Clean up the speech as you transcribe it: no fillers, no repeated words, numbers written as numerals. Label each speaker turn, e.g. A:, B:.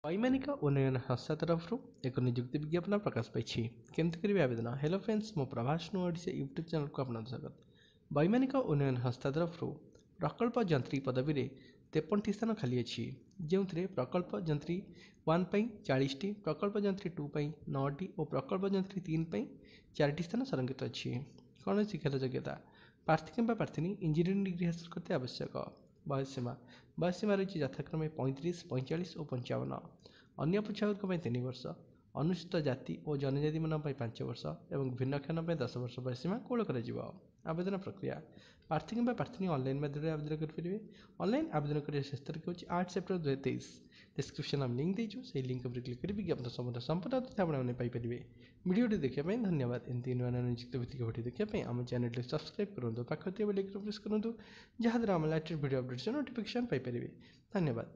A: ବୈମାନିକ ଉନ୍ନୟନ ସଂସ୍ଥା ତରଫରୁ ଏକ ନିଯୁକ୍ତି ବିଜ୍ଞାପନ ପ୍ରକାଶ ପାଇଛି। କେମିତି କରିବେ ଆବେଦନ? ହ୍ୟାଲୋ ଫ୍ରେଣ୍ଡସ୍, ମୁଁ ପ୍ରଭାସ, ନୂଆ ଓଡ଼ିଶା ୟୁଟ୍ୟୁବ୍ ଚ୍ୟାନେଲକୁ ଆପଣଙ୍କୁ ସ୍ୱାଗତ। ବୈମାନିକ ଉନ୍ନୟନ ସଂସ୍ଥା ତରଫରୁ ପ୍ରକଳ୍ପ ଯନ୍ତ୍ରୀ ପଦବୀରେ 53ଟି ସ୍ଥାନ ଖାଲି ଅଛି, ଯେଉଁଥିରେ ପ୍ରକଳ୍ପ ଯନ୍ତ୍ରୀ 1 ପାଇଁ 40ଟି, ପ୍ରକଳ୍ପ ଯନ୍ତ୍ରୀ 2 ପାଇଁ 9ଟି ଓ ପ୍ରକଳ୍ପ ଯନ୍ତ୍ରୀ 3 ପାଇଁ 4ଟି ସ୍ଥାନ ସଂରକ୍ଷିତ ଅଛି। କ'ଣ ଶିକ୍ଷାଗତ ଯୋଗ୍ୟତା? ପ୍ରାର୍ଥୀ କିମ୍ବା ପ୍ରାର୍ଥିନୀ ଇଞ୍ଜିନିୟରିଂ ଡିଗ୍ରୀ ହାସଲ କରିଥିବା ଆବଶ୍ୟକ। ବୟସ ସୀମା? ବୟସ ସୀମା ରହିଛି ଯଥାକ୍ରମେ 35, 45 ଓ 55। ଅନ୍ୟ ପଛୁଆବର୍ଗ ପାଇଁ 3 ବର୍ଷ, ଅନୁସୂଚିତ ଜାତି ଓ ଜନଜାତିମାନଙ୍କ ପାଇଁ 5 ବର୍ଷ ଏବଂ ଭିନ୍ନକ୍ଷମ ପାଇଁ 10 ବର୍ଷ ବୟସ ସୀମା କୋହଳ କରାଯିବ। ଆବେଦନ ପ୍ରକ୍ରିୟା: ପ୍ରାର୍ଥୀ କିମ୍ବା ପ୍ରାର୍ଥିନୀ ଅନଲାଇନ୍ ମାଧ୍ୟମରେ ଆବେଦନ କରିପାରିବେ। ଅନଲାଇନ୍ ଆବେଦନ କରିବାର ଶେଷ ତାରିଖ ହେଉଛି 8 ସେପ୍ଟେମ୍ବର 2023। ଡିସ୍କ୍ରିପ୍ସନ୍ ଆମେ ଲିଙ୍କ୍ ଦେଇଛୁ, ସେଇ ଲିଙ୍କ୍ ଉପରେ କ୍ଲିକ୍ କରି ବିଜ୍ଞାପନ ସମ୍ପୂର୍ଣ୍ଣ ତଥ୍ୟ ଆପଣମାନେ ପାଇପାରିବେ। ଭିଡ଼ିଓଟି ଦେଖିବା ପାଇଁ ଧନ୍ୟବାଦ। ଏମିତି ନୂଆ ନୂଆ ନିଯୁକ୍ତି ଭିତ୍ତିକ ଭିଡ଼ିଓ ଦେଖିବା ପାଇଁ ଆମ ଚ୍ୟାନେଲଟି ସବସ୍କ୍ରାଇବ୍ କରନ୍ତୁ, ପାଖରେ ଥିବା ବେଲ୍ ଆଇକନ୍ ପ୍ରେସ୍ କରନ୍ତୁ, ଯାହାଦ୍ୱାରା ଆମ ଲାଟେଷ୍ଟ ଭିଡ଼ିଓ ଅପଡ଼େଟ୍ସ ନୋଟିଫିକେସନ୍ ପାଇପାରିବେ। ଧନ୍ୟବାଦ।